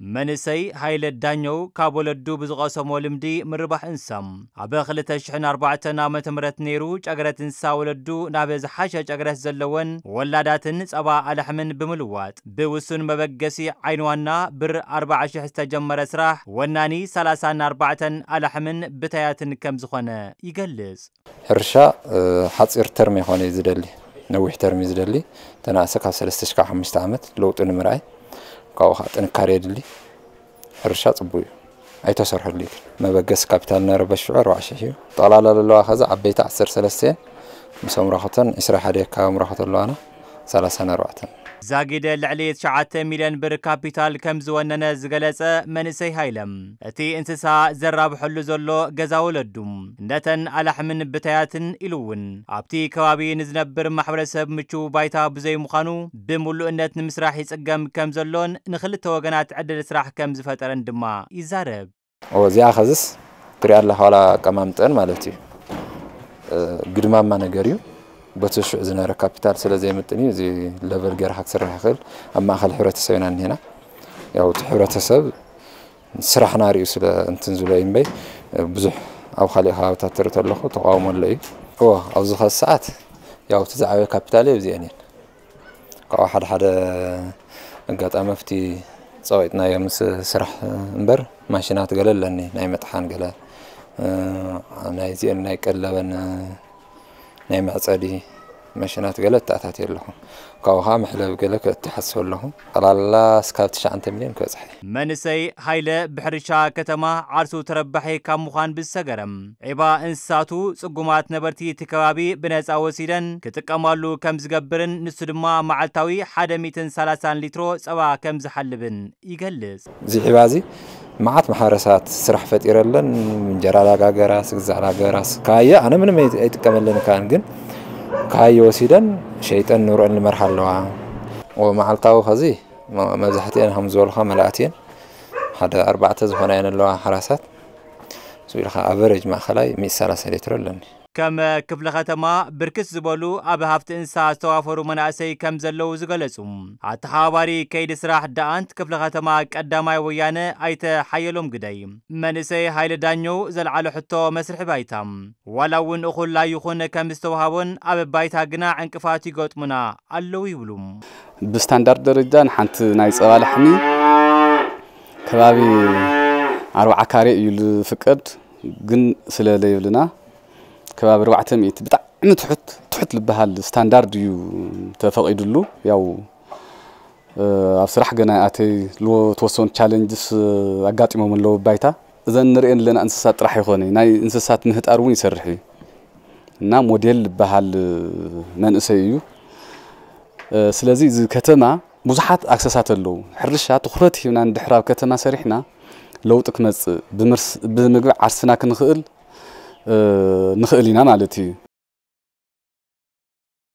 መንእሰይ ሃይለ ዳኘው ካብ ወለዱ ብዝቐሰሞ ልምዲ ምርባሕ እንስሳ፣ ኣብ ክልተ ሽሕን ኣርባዕተን ዓመተ ምህረት ነይሩ ጨግረት እንስሳ ወለዱ ናብ ዝሓሸ ጨግረት ዘለወን ወላዳትን ጸባ ኣላሕምን ብምልዋጥ፣ ብውሱን መበገሲ ዓይንዋና ብር ኣርባዓ ሽሕ ዝተጀመረ ስራሕ ወናኒ ሰላሳን ኣርባዕተን ኣላሕምን ብታያትን ከም ዝኾነ ይገልጽ። ሕርሻ፣ እ፣ ሓጺር ተርም ይኾነ እዩ ዝደሊ፣ ነዊሕ ተርም እዩ ዝደሊ። ተናእሰ ካብ ሰለስተ ሽሕ ካብ ሓሙሽተ ዓመት ለውጢ ንምርኣይ፣ ካብኡ ኸዓ ጥንካሬ የድሊ። ሕርሻ ጽቡቅ እዩ፣ ኣይተሰርሐሉ እዩ። መበገሲ ካፒታል ነረ በሽዑ ኣርባዓ ሽሕ እዩ። ጠቕላላ ዘለዋ ኸዚ ዓበይቲ ዓሰርተ ሰለስተ እየን፣ ምስ ኣምራኸተን ዕስራ ሓደ ካብ ኣምራኸተ ኣለዋና፣ ሰላሳን ኣርባዕተን። ዛጊደ ልዕሊ ትሽዓተ ሚልዮን ብር ካፒታል ከም ዝወነነ ዝገለጸ መንእሰይ ሃይለ፣ እቲ እንስሳ ዘራብሐሉ ዘሎ ገዛ ወለዱ፣ ነተን ኣላሕምን ብታያትን ኢሉ እውን ኣብቲ ከባቢ ንዝነብር ማሕበረሰብ ምቹው ባይታ ብዘይምዃኑ፣ ብምሉእነት ንምስራሕ ይጽገም ከም ዘሎን ንኽልተ ወገናት ዕድል ስራሕ ከም ዝፈጠረን ድማ ይዛረብ። ኦ፣ እዚኣ ኸዝስ ትሪኣ ኣለኻ፣ ዋላ ኣቀማምጠን ማለት እዩ። እ፣ ግድማማ ነገር እዩ። በቲ ሽዑ ዝነበረ ካፒታል ስለ ዘይምጥን እዩ፣ እዚ ለቨል ገይርካ ክትስራሕ ይኽእል። ኣብ ማእከል ሕብረተሰብ ኢና እኒሄና። ያው እቲ ሕብረተሰብ ስራሕና ሪኡ ስለ እንትን ዝብሎ እዩ እምበይ፣ ብዙሕ ኣብ ካልእ ከባብታት ትርኢ ተለኹ ተቃውሞ ኣሎ እዩ። እዎ፣ ኣብዚ ኸዚ ሰዓት ያው እቲ ዝዓበየ ካፒታል እዩ፣ እዚአን እየን። ካብኡ ሓደ ሓደ ኣጋጣሚ ኣብቲ ጸቂጥናዮ ምስ ስራሕ እምበር፣ ማሽናት ገለ ኣለኒ፣ ናይ መጥሓን ገለ፣ እ፣ ናይ እዚአን ናይ ቀለበን፣ እ፣ ናይ መዕጸዲ ማሽናት ገለ እተኣታትየ ኣለኹ። ካብኡ ኸዓ መሕለቢ ገለ ከእቲ ሓስብ ኣለኹ። ጠቕላላ እስካብ ትሽዓተ ሚልዮን ክበጽሕ እየ። መንእሰይ ሃይለ ብሕርሻ ከተማ ዓርሱ ተረባሒ ካብ ምዃን ብዝሰገረ፣ ዒባ እንስሳቱ ጽጉማት ነበርቲ እቲ ከባቢ ብነጻ ወሲደን ክጥቀማሉ ከም ዝገብርን ንሱ ድማ መዓልታዊ ሓደ ሚእትን ሰላሳን ሊትሮ ጸባ ከም ዝሓልብን ይገልጽ። እዚ ዒባ እዚ መዓት ማሕበረሰባት ስራሕ ፈጢረለን፣ እንጀራ ዳጋገራስ፣ ግዛዕ ዳገራስ፣ ካየ ኣነ ምንም ኣይ-፣ ኣይጥቀመለን ካን፣ ግን ካየ ወሲደን ሸይጠን ንብረን ልመርሓ ኣለዋ። ወ-፣ መዓልታዊ ኸዚ መ-፣ መብዛሕትኤን ከም ዝበልኻ መላእቲ እየን። ሓደ ኣርባዕተ ዝኾና እየን ኣለዋ ሓራሳት። እሱ ኢልኻ ኣቨሬጅ ማእኸላይ ሚእቲ ሰላሳ ሊትሮ ኣለኒ። ከም ክፍለ ከተማ ብርክት ዝበሉ ኣብ ሃፍቲ እንስሳ ዝተዋፈሩ መናእሰይ ከም ዘለዉ ዝገለጹ ኣተሓባባሪ ከይዲ ስራሕ ደኣንት ክፍለ ከተማ ቀዳማይ ወያነ ኣይተ ሓየሎም ግደይ፣ መንእሰይ ሃይለ ዳኘው ዘልዓሎ ሕቶ መስርሒ ባይታ ዋላ እውን እኹል ኣይኹን ከም ዝተዋሃቦን ኣብ ባይታ ግና ዕንቅፋት ይገጥሙና ኣለዉ ይብሉ። ብስታንዳርድ ደረጃ ንሓንቲ ናይ ጸባ ላሕሚ ከባቢ ኣርባዓ ካሬ እዩ ዝፍቀድ፣ ግን ስለ ለይብልና ከባቢ ኣርባዕተ ሚእቲ ብጣዕሚ ትሑት፣ ትሑት ዝበሃል ስታንዳርድ እዩ ተፈቒዱሉ። ያው፣ እ፣ ኣብ ስራሕ ገና ኣተይ ዝተወሰኑ ቻለንጅስ ኣጋጢሞም ኣለዉ ባይታ። እዘን ንርእየን ኣለና እንስሳት ጥራሕ ይኾነ፣ ናይ እንስሳት ምህጣር እውን ይሰርሕ እዩ እና ሞዴል ዝበሃል መንእሰይ እዩ። እ፣ ስለዚ እዚ ከተማ ብዙሓት ኣክሰሳት ኣለዉ። ሕርሻ ትኹረት ሂብና እንድሕር ኣብ ከተማ ሰሪሕና ለውጢ ክመጽእ፣ ብምርስ-፣ ብምግቢ ዓርስና ክንኽእል፣ እ፣ ንኽእል ኢና ማለት እዩ።